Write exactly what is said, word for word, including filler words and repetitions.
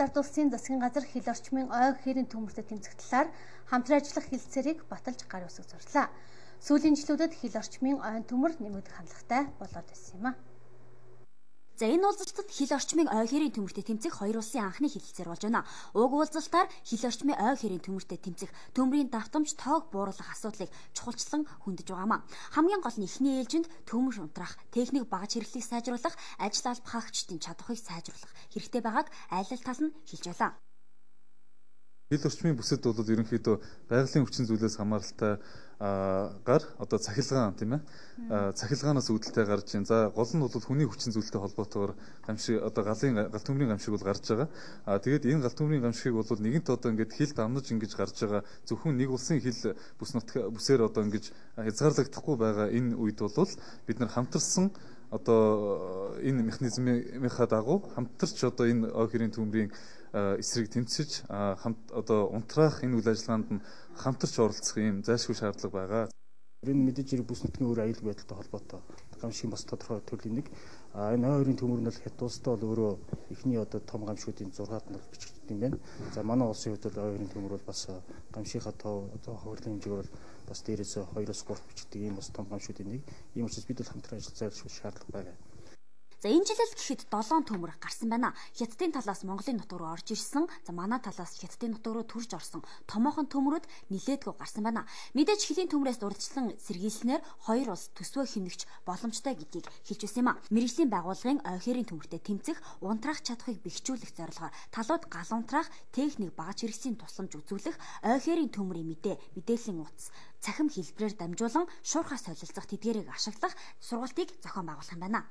Ард улсын засгийн газар хил орчмын ой хэрийн төмөртэй тэмцэх талаар хамтран ажиллах хэлэлцээрийг баталж гар үсэг зурлаа. Сүүлийн жилүүдэд хил орчмын ойн төмөр нэмэгдэх хандлагатай болоод байсан юм а. За энэ уулзалтад хил орчмын ой хэрийн төмөртэй тэмцэх хоёр улсын анхны хэлэлцээр болж байна. Уг уулзалтаар хил орчмын ой хэрийн төмөртэй тэмцэх төмрийн давтамж тоог бууруулах асуудлыг чухалчлан хөндөж байгаамаа. Хамгийн гол нь эхний ээлжинд төмөр унтрах, техник багаж хэрэглийг сайжруулах, ажил албахагчдын чадварыг сайжруулах хэрэгтэй байгааг айлал тал нь хэлж байлаа. Хил орчмын бүсэд бол ерөнхийдөө байгалийн хүчин зүйлээс хамааралтай гар одоо цахилгаан тийм ээ цахилгаанаас үүдэлтэй гарч ийн. За гол нь бол хүний хүчин зүйлтэй холбоотойгоор гамшиг одоо галын гал төмрийн гамшиг бол гарч байгаа. А тэгээд энэ гал төмрийн гамшигыг бол нэгэнт одоо ингээд хил давнаж ингэж гарч байгаа зөвхөн нэг улсын хил бүс нутг бүсээр одоо ингэж хязгаарлагдахгүй байгаа энэ үед бол бид нар хамтарсан одоо энэ механизмынхаа дагуу хамтарч одоо энэ ой хэрийн төмрийн эсрэг тэмцэж хамт одоо унтраах энэ үйл ажиллагаанд нь хамтарч оролцох юм зайлшгүй шаардлага байгаа. Энэ мэдээж хэрэг бүс нутгийн өөр аюулгүй байдалтай холбоотой гамшигын бас тодорхой төрлийн нэг. А энэ ой хэрийн төмөр нь бол хят улстай бол өөрөө эхний одоо том гамшигуудын зургаад нь бичигдсэн юм байна. За манай улсын хувьд бол ой хэрийн төмөр бол бас гамшигынхаа тоо одоо хөвөрлийн хэмжээг бол бас дээрээс хоёроос гурав бичигдэх ийм бас том гамшигуудын нэг. Ийм учраас бид бол хамтран ажиллах зайлшгүй шаардлага байгаа. За энэ жилэл гэхэд долоон төмөр гарсан байна. Хятадын талаас Монголын нутаг руу орж ирсэн, за манай талаас Хятадын нутаг руу төрж орсон томоохон төмрүүд нилээдгүй гарсан байна. Мэдээж хилийн төмрөөс урьдчилан сэргийлснээр хоёр улс төсвөө хэмнэгч боломжтой гэдгийг хэлж байсан юм а. Мэргэжлийн байгууллагын ой хэрийн төмөртэй тэмцэх, унтраах чадхыг бэхжүүлэх зорилгоор талууд гал унтраах, техник багаж хэрэгслийн тусламж үзүүлэх, ой хэрийн төмрийн мэдээ, мэдээллийн утас, цахим хэлбэрээр дамжуулан шуурхаас солилцох тэдгээрийг ашиглах сургалтыг зохион байгуулах юм байна.